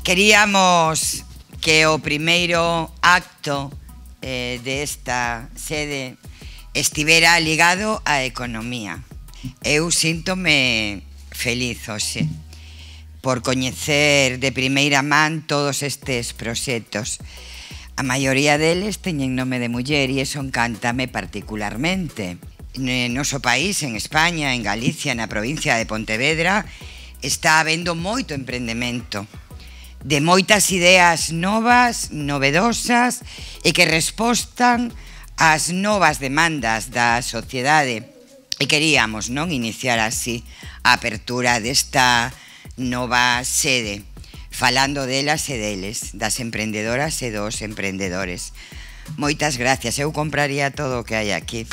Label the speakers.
Speaker 1: Queríamos que o primeiro acto desta sede estivera ligado á economía. Eu síntome feliz hoxe por coñecer de primeira man todos estes proxectos. A maioría deles teñen nome de muller e iso encántame particularmente. No noso país, en España, en Galicia, na provincia de Pontevedra, está habendo moito emprendemento, de moitas ideas novas, novedosas e que respostan ás novas demandas da sociedade. E queríamos iniciar así a apertura desta nova sede, falando delas e deles, das emprendedoras e dos emprendedores. Moitas gracias, eu compraría todo o que hai aquí.